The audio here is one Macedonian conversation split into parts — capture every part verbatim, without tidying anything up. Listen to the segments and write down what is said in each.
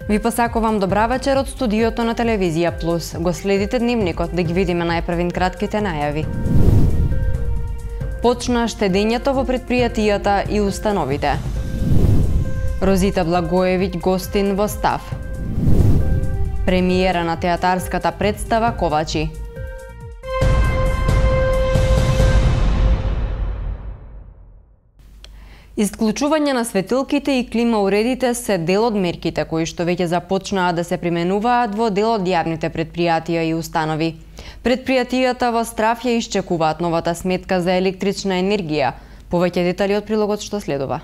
Ви посакувам добра вечер од студиото на Телевизија Плюс. Го следите дневникот да ги видиме најпрвин кратките најави. Почна штедењето во предпријатијата и установите. Розита Благоевиќ гостин во Став. Премиера на театарската представа Ковачи. Исклучување на светилките и клима уредите се дел од мерките кои што веќе започнаа да се применуваат во дел од јавните предпријатија и установи. Предпријатијата во Страв ја исчекуваат новата сметка за електрична енергија. Повеќе детали од прилогот што следува.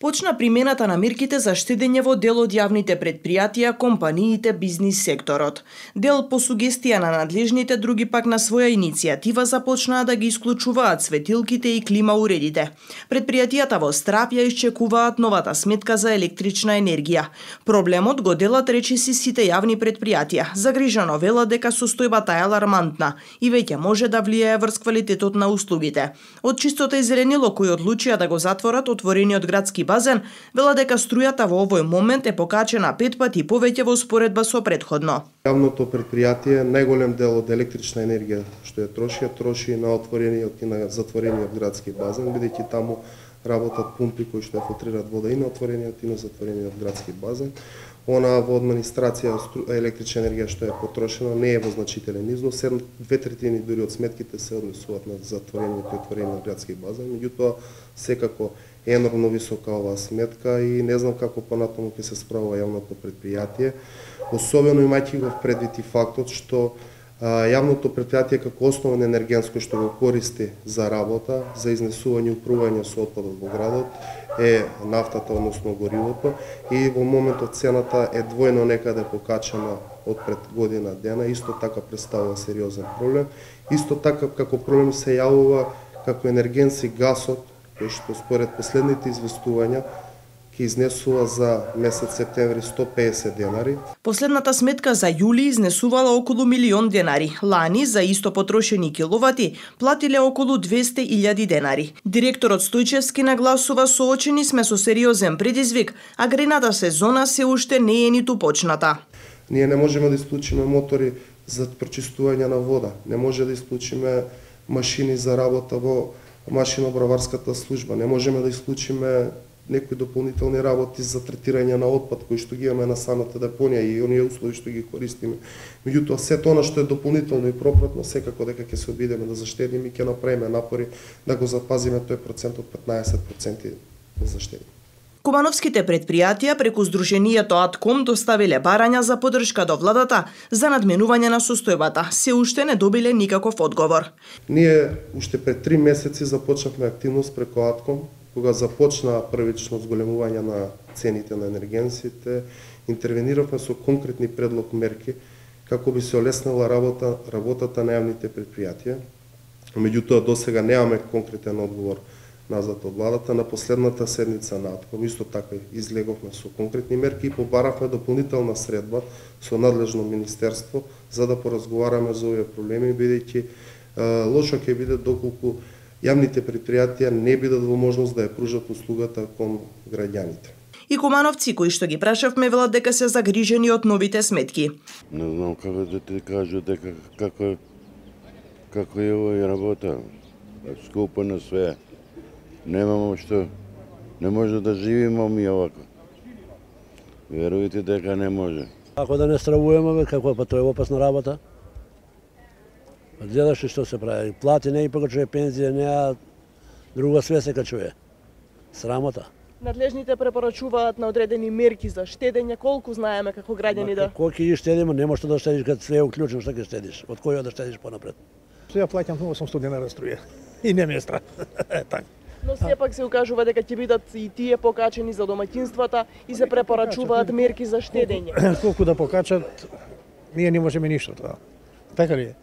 Почна примената на мерките за штедење во дел од јавните предпријатија, компаниите, бизнис секторот. Дел по сугестија на надлежните, други пак на своја иницијатива започнаа да ги исклучуваат светилките и клима уредите. Предпријатијата во Страп ја исчекуваат новата сметка за електрична енергија. Проблемот го делат речиси сите јавни предпријатија. Загрижено велат дека состојбата е алармантна и веќе може да влијае врз квалитетот на услугите. Од Чистота и зеленило кои одлучија да го затворат отворениот градски базен, вела дека струјата во овој момент е покачена пет пати повеќе во споредба со претходно. Јавното предпријатие најголем дел од електрична енергија што ја троши, ја троши на отворениот и на затворениот градски базен, бидејќи таму работат пумпи кои што ја филтрираат вода и на отворениот и на затворениот градски базен. Она во администрација електрична енергија што е потрошена не е во значителен износ, две третини дури од сметките се однесуваат на затворениот и отворениот градски базен, меѓутоа секако е енормно висока оваа сметка и не знам како понатаму ќе се справува јавното предпријатие, особено имајќи го предвид и фактот што а, јавното предпријатие како основен енергенско што го користи за работа, за изнесување и упрување со отпадот во градот е нафтата, односно горивото, и во моментот цената е двојно некаде покачена од пред година дена, исто така представува сериозен проблем. Исто така како проблем се јавува како енергенси гасот, кој што според последните известувања ќе изнесува за месец септември сто пеесет денари. Последната сметка за јули изнесувала околу милион денари. Лани за исто потрошени киловати платиле околу двесте илјади денари. Директорот Стојчевски нагласува: соочени сме со сериозен предизвик, а грејната сезона се уште не е ниту почната. Ние не можеме да исклучиме мотори за прочистување на вода, не може да исклучиме машини за работа во машинобраварската служба, не можеме да исклучиме некои дополнителни работи за третирање на отпад кои што ги имаме на самата депонија и оние услови што ги користиме. Меѓутоа сето она што е дополнително и пропратно секако дека ќе се обидеме да заштедиме и ќе направиме напори да го запазиме тој процент од петнаесет проценти да заштедиме. Кумановските предпријатија преку Сдруженијето Атком доставиле барања за поддршка до владата за надменување на состојбата. Се уште не добиле никаков одговор. Ние уште пред три месеци започнавме активност преку Атком, кога започна првично зголемување на цените на енергенсите, интервениравме со конкретни предлог мерки како би се олеснила работа, работата на јавните предпријатија. Меѓутоа досега немаме конкретен одговор назад од владата. На последната седница на Атком исто така излеговме со конкретни мерки и побаравме дополнителна средба со надлежно министерство за да поразговараме за овие проблеми, бидејќи лошо ќе биде доколку јавните предпријатија не бидат во можност да ја пружат услугата кон граѓаните. И кумановци кои што ги прашавме велат дека се загрижени од новите сметки. Не знам како да ти кажу дека како како е овој работа. Скупо на све. Немамо што, не може да живееме ми овако. Верувате дека не може. Ако да не стравуваме, како па тоа е опасна работа. Гледаш што се прави, плати не и па чуе пензија, неа друго све се качуе. Срамота. Надлежните препорачуваат на одредени мерки за штедење, колку знаеме како граѓани да. Колку ќе штедиме, нема што да штедиш кога све е уклучено, што ќе штедиш. Од кој да штедиш понапред? Сега плаќам осумстотини денара струја и не ме е страх. Така. Но сепак се укажува дека ќе бидат и тие покачени за домаќинствата и се препорачуваат мерки за штедење. Колку да покачат, ние не можеме ништо тоа. Така ли е?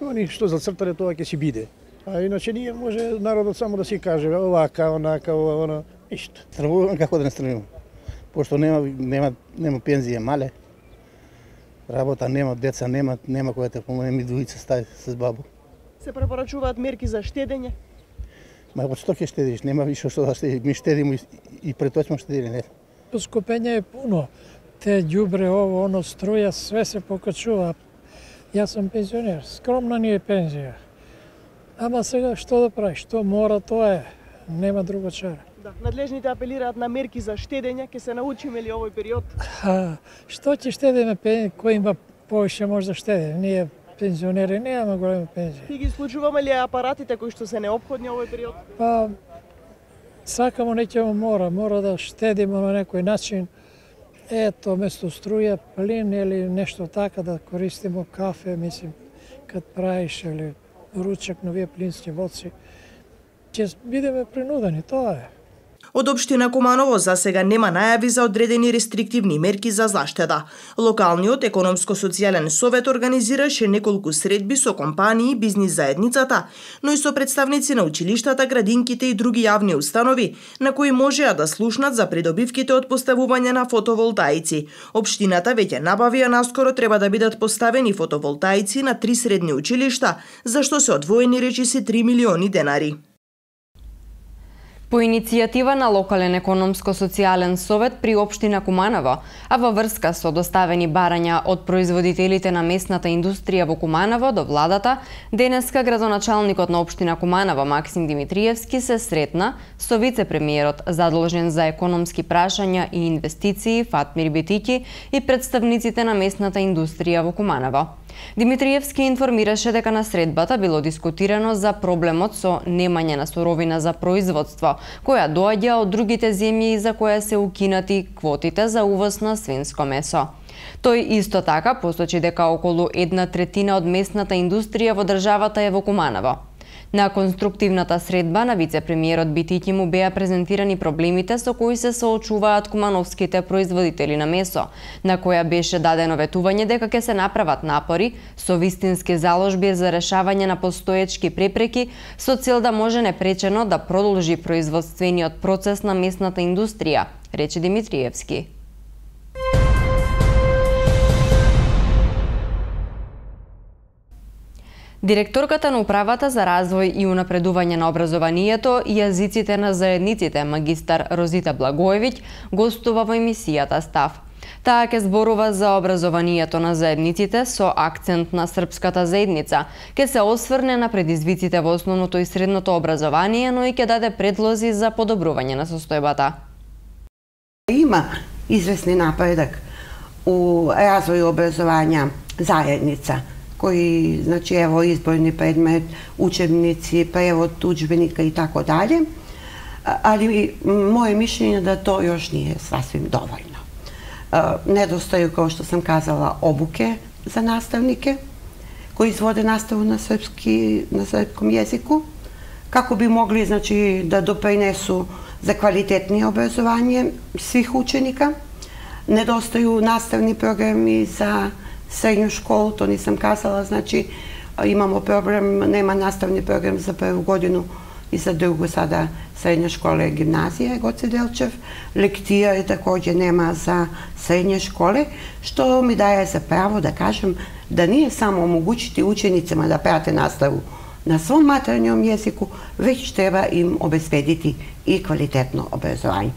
Они што зацртале тоа ќе си биде. А иначе ние може народот само да си каже овака, онака, ова, оно, ништо. Стравувам како да не стравувам. Пошто нема нема нема пензија мале. Работа нема, деца нема, нема која те помогне, ми двојца стаи с бабу. Се препорачуваат мерки за штедење. Ма во што ќе штедиш? Нема више што да штедиш. Ми штедиме и, и пред тоа сме штедили, не. Поскопење е пуно. те ѓубре, ово, оно, струја, све се покачува. Јас сум пензионер, скромна ни е пензија. Ама сега што да прави, што мора, тоа е. Нема друго чара. Да, надлежните апелираат на мерки за штедење, ќе се научиме ли овој период? А, што ќе штедеме, кој има повеќе може да штеде? Ние пензионери немаме голема пензија. Ти ги исклучуваме ли апаратите кои што се неопходни овој период? Па, сакамо неќемо мора, мора да штедиме на некој начин. Ето, место струја, плин или нешто така да користимо кафе, мислим, кад правиш или ручек на овие плински воци. Ќе бидеме принудени, тоа е. Од општина Куманово за сега нема најави за одредени рестриктивни мерки за заштеда. Локалниот економско-социјален совет организираше неколку средби со компании и бизнис заедницата, но и со представници на училиштата, градинките и други јавни установи, на кои можеа да слушнат за придобивките од поставување на фотоволтаици. Општината веќе набави, а наскоро треба да бидат поставени фотоволтаици на три средни училишта, за што се одвоени речиси три милиони денари. По иницијатива на локален економско-социјален совет при општина Куманово, а во врска со доставени барања од производителите на месната индустрија во Куманово до владата, денеска градоначалникот на општина Куманово Максим Димитриевски се сретна со вице-премиерот задолжен за економски прашања и инвестиции Фатмир Бетики и представниците на месната индустрија во Куманово. Димитриевски информираше дека на средбата било дискутирано за проблемот со немање на суровина за производство, која доаѓа од другите земји и за која се укинати квотите за увоз на свинско месо. Тој исто така посочи дека околу една третина од месната индустрија во државата е во Куманово. На конструктивната средба на вице-премиерот Битики му беа презентирани проблемите со кои се соочуваат кумановските производители на месо, на која беше дадено ветување дека ќе се направат напори со вистински заложби за решавање на постоечки препреки со цел да може непречено да продолжи производствениот процес на месната индустрија, рече Димитриевски. Директорката на Управата за развој и унапредување на образованието и јазиците на заедниците, магистар Розита Благоевиќ, гостува во емисијата Став. Таа ќе зборува за образованието на заедниците со акцент на српската заедница, ќе се осврне на предизвиците во основното и средното образование, но и ќе даде предлози за подобрување на состојбата. Има известни напредок у развоју образовanja заедница, кои, значи, ево, изборни предмет, учебници, превод удžbenика и тако далje, ali moje mišljenje da to još nije sasvim dovoljno. Nedostaju, kao što sam kazala, obuke za nastavnike koji izvode nastavu na srpski, na srpskom jeziku, kako bi mogli, znači, da doprinesu za kvalitetnije obrazovanje svih učenika. Nedostaju nastavni programi za srednju školu, to nisam kazala, znači imamo problem, nema nastavni program za prvu godinu i za drugu sada srednja škola i gimnazija Goce Delčev. Lektira također nema za srednje škole, što mi daje za pravo da kažem da nije samo omogućiti učenicima da prate nastavu na svom maternjem jeziku, već treba im obezbediti i kvalitetno obrazovanje.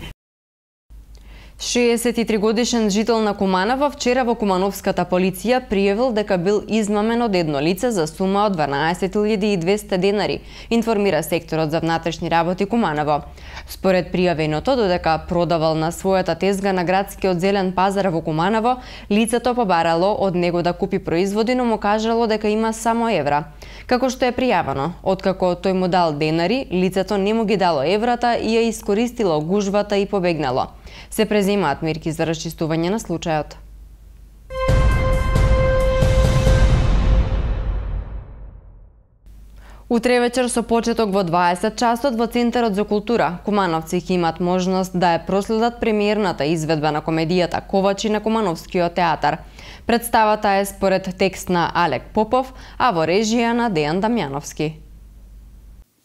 шеесет и три годишен жител на Куманово вчера во Кумановската полиција пријавил дека бил измамен од едно лице за сума од дванаесет илјади и двесте денари, информира секторот за внатрешни работи Куманово. Според пријавеното, додека продавал на својата тезга на градскиот зелен пазар во Куманово, лицето побарало од него да купи производи, но му кажало дека има само евра. Како што е пријавено, откако тој му дал денари, лицето не му ги дало еврата и ја искористило гужвата и побегнало. Се преземаат мерки за расчистување на случајот. Утре вечер со почеток во дваесет часот во Центарот за култура, кумановци ќе имат можност да ја проследат премиерната изведба на комедијата Ковачи на Кумановскиот театар. Представата е според текст на Алек Попов, а во режија на Дејан Дамјановски.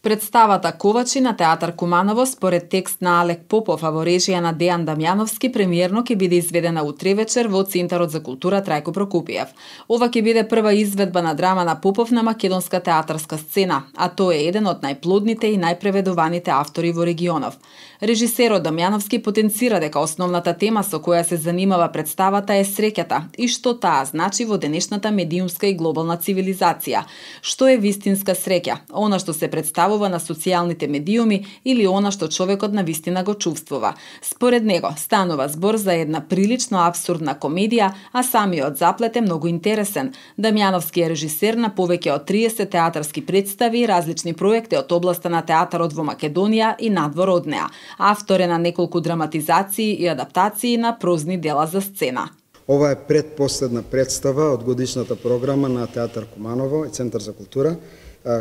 Представата Ковачи на Театар Куманово според текст на Алек Попов, а во режија на Дејан Дамјановски, премиерно ќе биде изведена утре вечер во Центарот за култура Трајко Прокопиев. Ова ќе биде прва изведба на драма на Попов на македонска театарска сцена, а тој е еден од најплодните и најпреведуваните автори во регионов. Режисерот Дамјановски потенцира дека основната тема со која се занимава представата е среќата и што таа значи во денешната медиумска и глобална цивилизација. Што е вистинска среќа? Она што се представува на социјалните медиуми или она што човекот на вистина го чувствува. Според него станува збор за една прилично абсурдна комедија, а самиот заплет е многу интересен. Дамјановски е режисер на повеќе од триесет театарски представи и различни проекти од областа на театарот во Македонија и надвор од неа. Автор е на неколку драматизации и адаптации на прозни дела за сцена. Ова е предпоследна представа од годишната програма на Театар Куманово и Центар за култура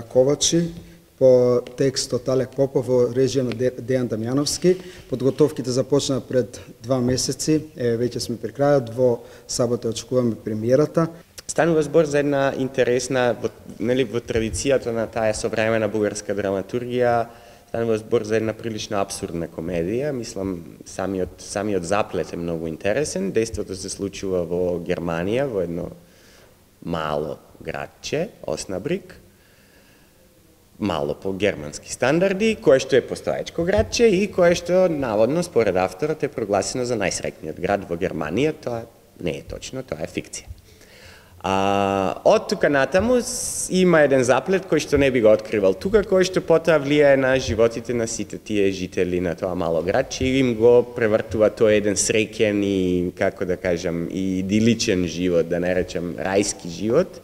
Ковачи по текст од Алек Попов во режија на Дејан Дамјановски. Подготовките започнаа пред два месеци, е, веќе сме при крајот, во сабота очекуваме премиерата. Станува збор за една интересна, нели, во традицијата на таа современа бугарска драматургија, станува збор за една прилично абсурдна комедија. Мислам, самиот, самиот заплет е многу интересен. Дејството се случува во Германија, во едно мало градче, Оснабрик, мало по германски стандарди, кое што е постоечко градче и кое што наводно според авторот е прогласено за најсреќниот град во Германија. Тоа не е точно, тоа е фикција. А, од тука натаму има еден заплет кој што не би го откривал тука, кој што потоа влијае на животите на сите тие жители на тоа мало градче и им го превртува тој еден среќен и, како да кажам, и идиличен живот, да не речем рајски живот,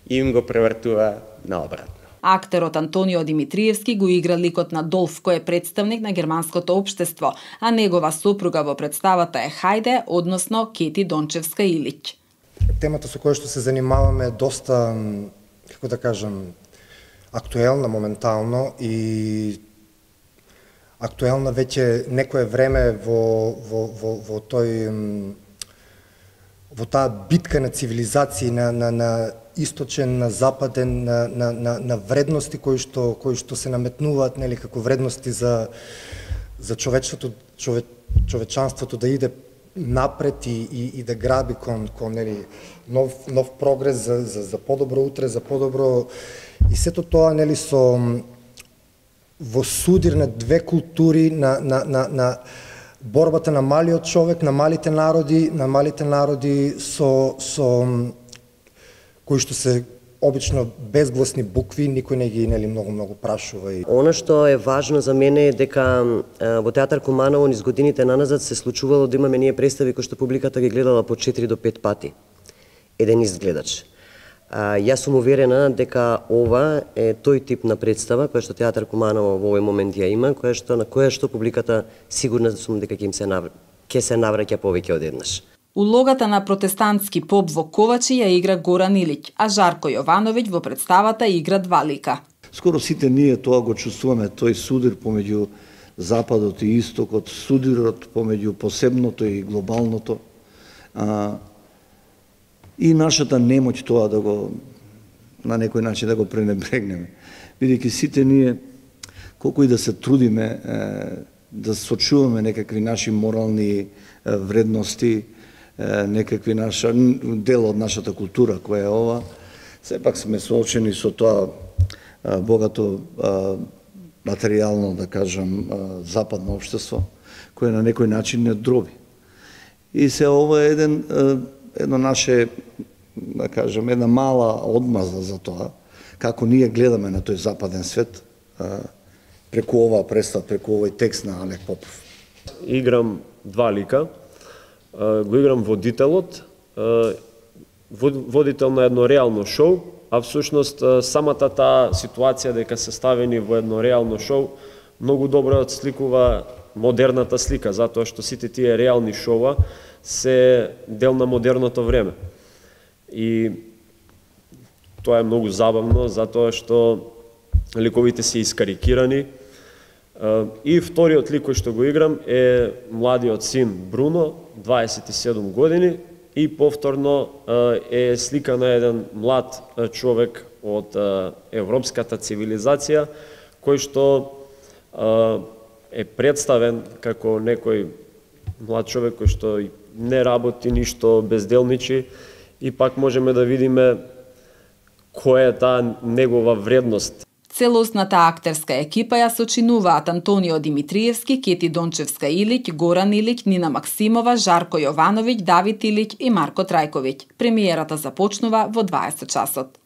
и им го превртува наобратно. Актерот Антонио Димитриевски го игра ликот на Долф, кој е представник на германското општество, а негова сопруга во представата е Хајде, односно Кети Дончевска Илиќ. Темата со која што се занимаваме е доста, како да кажам, актуелна моментално и актуелна веќе некое време во, во, во, во тој во таа битка на цивилизации, на, на, на источен, на западен, на, на, на, на вредности кои што, кои што се наметнуваат, нели, како вредности за, за човечеството, чове, човечанството да иде напред и, и, и да граби кон, кон нели, нов, нов прогрес за, за, за подобро утре, за подобро... И сето тоа, нели, со во судир на две култури, на, на, на, на борбата на малиот човек, на малите народи, на малите народи со, со кои што се обично безгласни букви, никој не ги, нели, многу многу прашува. И... Она што е важно за мене е дека во Театар Куманово низ годините наназад се случувало да имаме ние представи кои што публиката ги гледала по четири до пет пати. Еден ист гледач. А, јас сум уверена дека ова е тој тип на представа која што Театар Куманово во овој момент ја има, која што на која што публиката сигурна сум дека ќе им се навр... ќе се навраќа повеќе од еднаш. Улогата на протестантски поп во Ковачи ја игра Горан Илиќ, а Жарко Јовановиќ во представата игра два лика. Скоро сите ние тоа го чувствуваме, тој судир помеѓу Западот и Истокот, судирот помеѓу посебното и глобалното. А, и нашата немоќ тоа да го, на некој начин да го пренебрегнеме. Бидејќи сите ние, колку и да се трудиме, е, да сочуваме некакви наши морални е, вредности, некакви наша дел од нашата култура која е ова, сепак сме соочени со тоа богато материјално, да кажам, западно општество, кое на некој начин не дроби. И се ова е еден, едно наше, да кажам, една мала одмаза за тоа, како ние гледаме на тој западен свет, преку оваа представа, преку овој текст на Алек Попов. Играм два лика. Го играм водителот, водител на едно реално шоу, а всушност самата таа ситуација дека се ставени во едно реално шоу многу добро отсликува модерната слика, затоа што сите тие реални шоуа се дел на модерното време. И тоа е многу забавно, затоа што ликовите се искарикирани. И вториот лик кој што го играм е младиот син Бруно, дваесет и седум години, и повторно е слика на еден млад човек од европската цивилизација, кој што а, е представен како некој млад човек кој што не работи ништо, безделничи, и пак можеме да видиме која е таа негова вредност. Целосната актерска екипа ја сочинуваат Антонио Димитриевски, Кети Дончевска Илиќ, Горан Илиќ, Нина Максимова, Жарко Јовановиќ, Давид Илиќ и Марко Трајковиќ. Премиерата започнува во дваесет часот.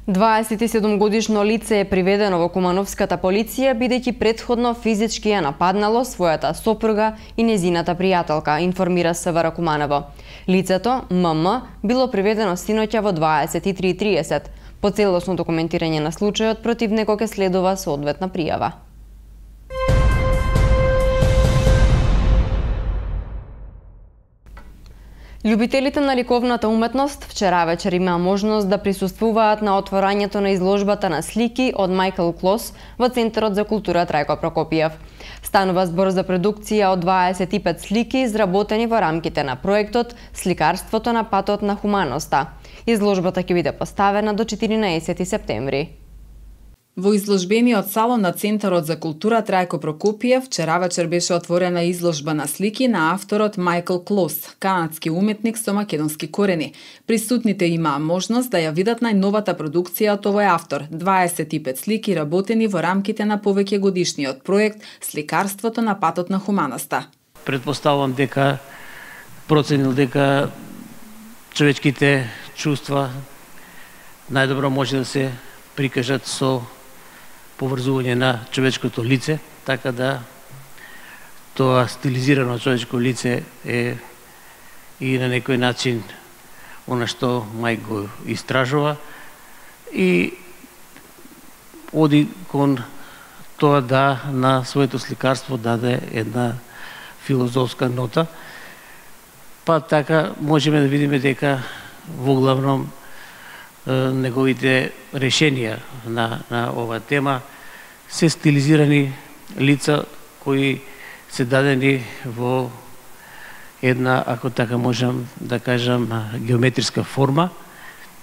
дваесет и седум годишно лице е приведено во Кумановската полиција бидејќи претходно физички ја нападнало својата сопруга и незината пријателка, информира СВР Куманово. Лицето, ММ, било приведено синоќа во дваесет и три и триесет. По целосно документирање на случајот против него ќе следува соодветна пријава. Љубителите на ликовната уметност вчера вечер имаа можност да присуствуваат на отворањето на изложбата на слики од Майкл Клос во Центарот за култура Трајко Прокопиев. Станува збор за продукција од дваесет и пет слики изработени во рамките на проектот Сликарството на патот на хуманоста. Изложбата ќе биде поставена до четиринаесети септември. Во изложбениот салон на Центарот за култура Трајко Прокопиев вчера вечер беше отворена изложба на слики на авторот Майкл Клос, канадски уметник со македонски корени. Присутните имаа можност да ја видат најновата продукција од овој автор, дваесет и пет слики работени во рамките на повеќе годишниот проект Сликарството на патот на хуманоста. Предпоставувам дека проценил дека човечките чувства најдобро може да се прикажат со поврзување на човечкото лице, така да тоа стилизирано човечко лице е и на некој начин она што Мајк го истражува и оди кон тоа да на своето сликарство даде една филозофска нота. Па така можеме да видиме дека во главном неговите решенија на, на оваа тема се стилизирани лица кои се дадени во една, ако така можам да кажам, геометриска форма,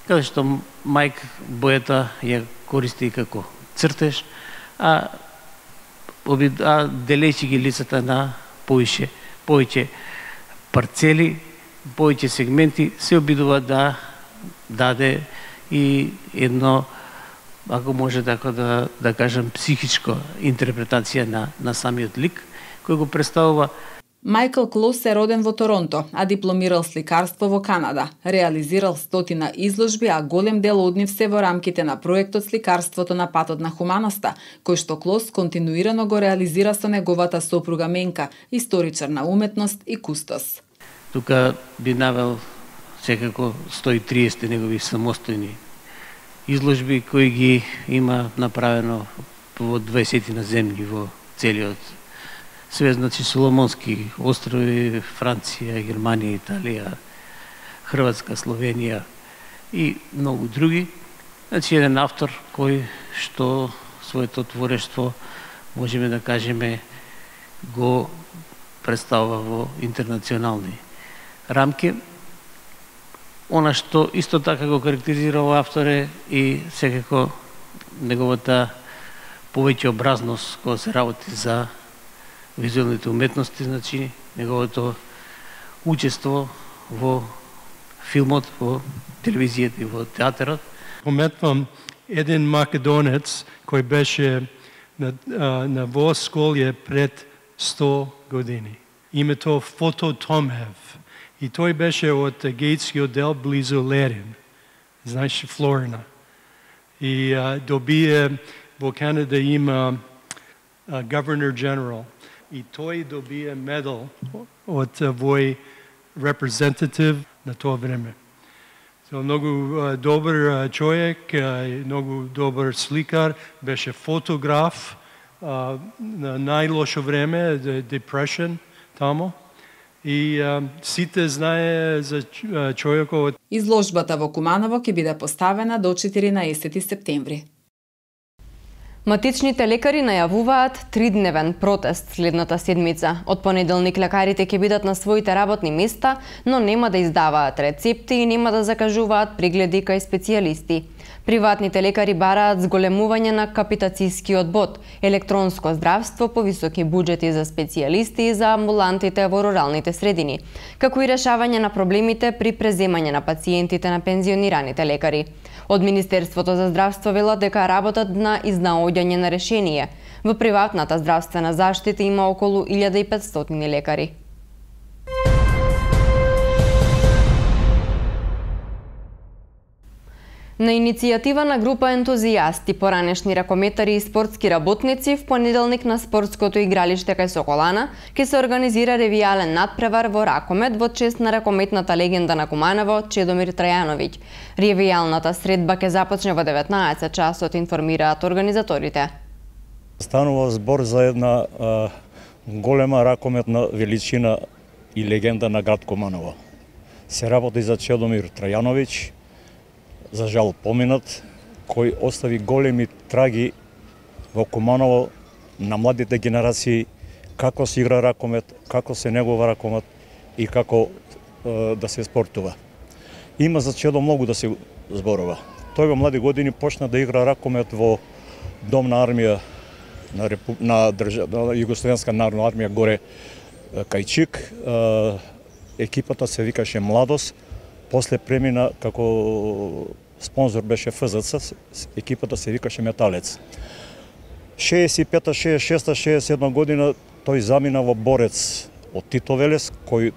каде што Мајк бојата ја користи како цртеж, а, а делејќи ги лицата на повише, повеќе парцели, повеќе сегменти, се обидува да даде и едно, ако може така да, да кажам, психичко интерпретација на, на самиот лик, кој го представува. Майкл Клос е роден во Торонто, а дипломирал сликарство во Канада. Реализирал стотина изложби, а голем дел од нив се во рамките на проектот Сликарството на патот на хуманоста, кој што Клос континуирано го реализира со неговата сопруга Менка, историчар на уметност и кустос. Тука би навел секако сто и триесет негови самостојни изложби кои ги има направено во дваесет на земји во целиот свет, значи Соломонски острови, Франција, Германија, Италија, Хрватска, Словенија и многу други. Значи еден автор кој што своето творештво можеме да кажеме го представува во интернационални рамки. Она што исто така го карактеризира овој автор е и секако неговата повеќе образност кога се работи за визуелните уметности, значи неговото учество во филмот, во телевизијата и во театарот. Пометвам еден македонец кој беше на, на Восколје пред сто години. Името Фото Томев. И тој беше од гејтскиот дел близу Лерин, знаеш, Флорина. И а, добие, во Канада има а, Governor General. И тој добие медал од вој representative на тоа време. So, многу а, добар а, човек, а, многу добар сликар, беше фотограф а, на најлошо време, depression тамо. И а, сите знае за човекот. Изложбата во Куманово ќе биде поставена до четиринаесети септември. Матичните лекари најавуваат тридневен протест следната седмица. Од понеделник лекарите ќе бидат на своите работни места, но нема да издаваат рецепти и нема да закажуваат прегледи кај специјалисти. Приватните лекари бараат зголемување на капитацискиот бод, електронско здравство, повисоки буџети за специјалисти и за амбулантите во руралните средини, како и решавање на проблемите при преземање на пациентите на пензионираните лекари. Од Министерството за здравство велат дека работат на изнаоѓање на решение. Во приватната здравствена заштита има околу илјада и петстотини лекари. На иницијатива на група ентузијасти, поранешни ракометари и спортски работници, в понеделник на спортското игралиште кај Соколана ќе се организира ревијален надпревар во ракомет во чест на ракометната легенда на Куманово Чедомир Трајановиќ. Ревијалната средба ќе започне во деветнаесет часот, информираат организаторите. Станува збор за една а, голема ракометна величина и легенда на град Куманово. Се работи за Чедомир Трајановиќ, за жал поминат, кој остави големи траги во Куманово на младите генерации, како се игра ракомет, како се негова ракомет и како е, да се спортува. Има за Чедо многу да се зборува. Тој во млади години почна да игра ракомет во Дом на армија на, Репу... на, држа... на Југословенска народна армија горе кај Чик. Е, екипата се викаше Младост. После премина како спонзор беше Ф З Ц, екипата се викаше Металец. шеесет и пета, шеесет и шеста, шеесет и седма година тој замина во Борец од Тито Велес, кој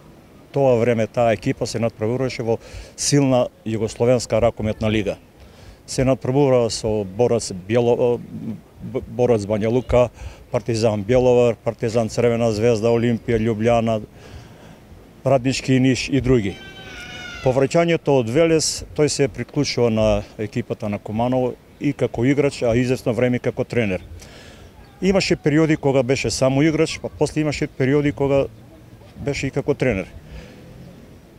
тоа време таа екипа се надпреваруваше во силна југословенска ракометна лига. Се надпреварува со Борец Бјело, Борец Бања Лука, Партизан Бјеловар, Партизан Црвена звезда, Олимпија, Љубљана, Раднички Ниш и други. По враќањето од Велес, тој се приклучува на екипата на Куманово и како играч, а известно време како тренер. Имаше периоди кога беше само играч, па после имаше периоди кога беше и како тренер.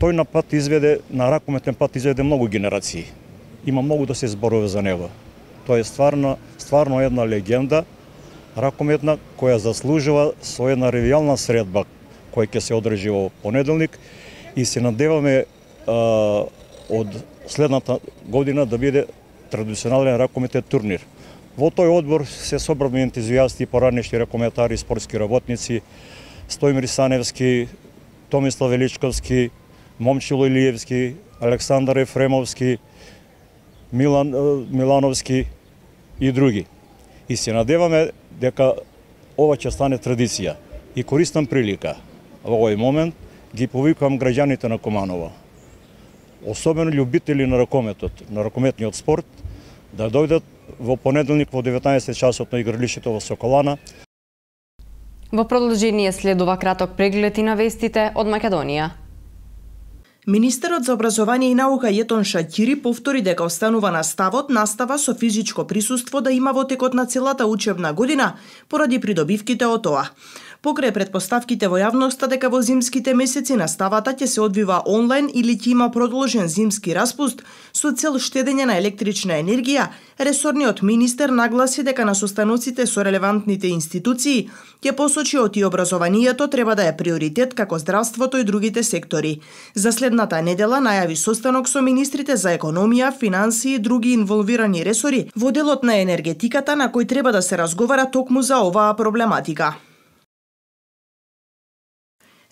Тој на пат изведе, на ракометен пат изведе многу генерации. Има многу да се зборува за него. Тој е стварно, стварно една легенда ракометна која заслужува со една ревијална средба која ќе се одржи во понеделник и се надеваме а, од следната година да биде традиционален ракометен турнир. Во тој одбор се собрани ентузијасти, поранешни ракометари, спортски работници, Стојмир Саневски, Томислав Величковски, Момчило Илиевски, Александар Ефремовски, Милан Милановски и други. И се надеваме дека ова ќе стане традиција. И користам прилика во овој момент ги повикувам граѓаните на Куманово, особено љубители на ракометот, на ракометниот спорт, да дојдат во понеделник во деветнаесет часот на игралишето во Соколана. Во продолжение следува краток преглед и на вестите од Македонија. Министерот за образование и наука Јетон Шаќири повтори дека останува на ставот настава со физичко присуство да има во текот на целата учебна година поради придобивките од тоа. Покрај предпоставките во јавноста дека во зимските месеци наставата ќе се одвива онлайн или ќе има продолжен зимски распуст со цел штедење на електрична енергија, ресорниот министер нагласи дека на состаноците со релевантните институции ќе посочи оти образованието треба да е приоритет како здравството и другите сектори. За следната недела најави состанок со министрите за економија, финансии и други инволвирани ресори во делот на енергетиката на кој треба да се разговара токму за оваа проблематика.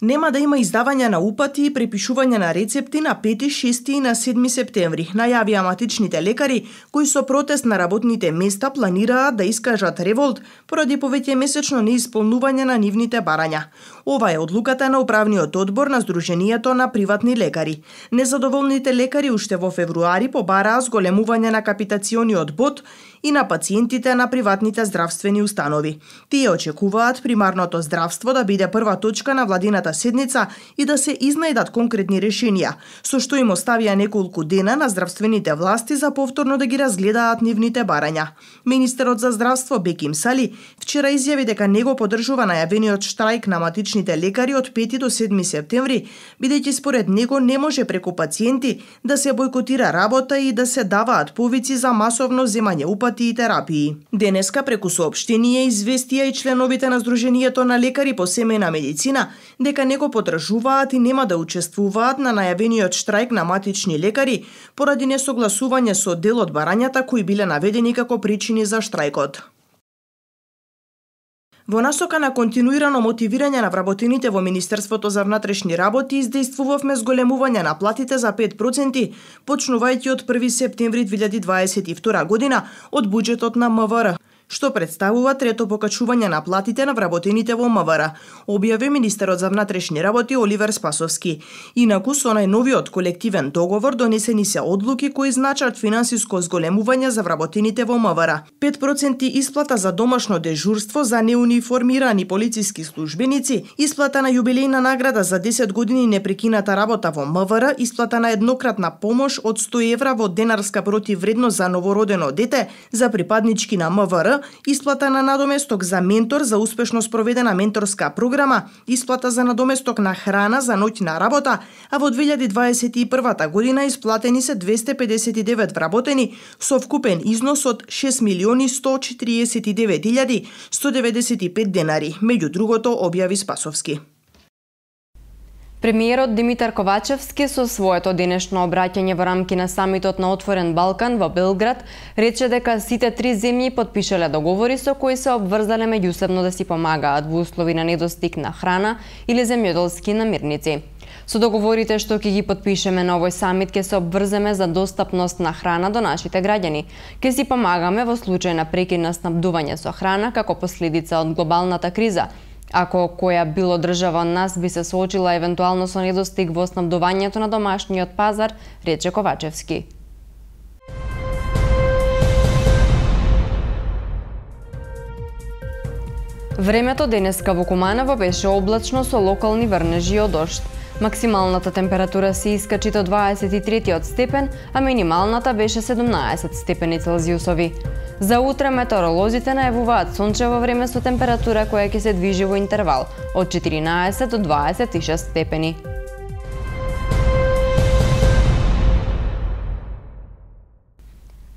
Нема да има издавање на упати и препишување на рецепти на пети, шести и на седми септември, најавија матичните лекари, кои со протест на работните места планираат да искажат револт поради повеќе месечно неисполнување на нивните барања. Ова е одлуката на управниот одбор на Сдруженијето на приватни лекари. Незадоволните лекари уште во февруари побараа зголемување на капитациониот бод и на пациентите на приватните здравствени установи. Тие очекуваат примарното здравство да биде прва точка на владината седница и да се изнајдат конкретни решенија, со што им оставија неколку дена на здравствените власти за повторно да ги разгледаат нивните барања. Министерот за здравство Беким Сали вчера изјави дека не го поддржува најавениот штрајк на матичните лекари од пети до седми септември, бидејќи според него не може преку пациенти да се бојкотира работа и да се даваат повици за масовно земање упати опати и терапии. Денеска преку соопштение известија и членовите на Сдруженијето на лекари по семејна медицина дека не го подржуваат и нема да учествуваат на најавениот штрајк на матични лекари поради несогласување со дел од барањата кои биле наведени како причини за штрајкот. Во насока на континуирано мотивирање на вработените во Министерството за внатрешни работи издействувавме зголемување на платите за пет проценти, почнувајќи од први септември две илјади дваесет и втора година од буџетот на М В Р, што представува трето покачување на платите на вработените во М В Р, објави министерот за внатрешни работи Оливер Спасовски. Инаку со најновиот колективен договор донесени се одлуки кои значат финансиско зголемување за вработените во М В Р. пет проценти исплата за домашно дежурство за неуниформирани полициски службеници, исплата на јубилејна награда за десет години непрекината работа во М В Р, исплата на еднократна помош од сто евра во денарска противвредност за новородено дете за припаднички на М В Р, исплата на надоместок за ментор за успешно спроведена менторска програма, исплата за надоместок на храна за ноќна работа, а во две илјади дваесет и прва година исплатени се двесте педесет и девет вработени со вкупен износ од шест милиони сто четиридесет и девет илјади сто деветдесет и пет денари, меѓу другото објави Спасовски. Премиерот Димитар Ковачевски со своето денешно обраќање во рамки на самитот на Отворен Балкан во Белград рече дека сите три земји потпишале договори со кои се обврзале меѓусебно да си помагаат во услови на недостиг на храна или земјоделски намирници. Со договорите што ќе ги потпишеме на овој самит ќе се обврземе за достапност на храна до нашите граѓани. Ќе си помагаме во случај на прекин на снабдување со храна како последица од глобалната криза. Ако која било држава од нас би се соочила евентуално со недостиг во снабдувањето на домашниот пазар, рече Ковачевски. Времето денеска во Куманово беше облачно со локални врнежи од дожд. Максималната температура се искачи до дваесет и третиот степен, а минималната беше седумнаесет степени Целзиусови. За утре метеоролозите најавуваат сончево време со температура која ќе се движи во интервал од четиринаесет до дваесет и шест степени.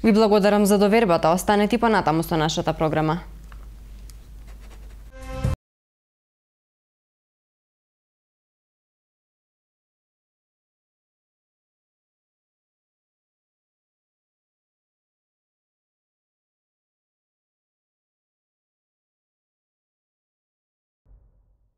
Ви благодарам за довербата, останете понатаму со нашата програма.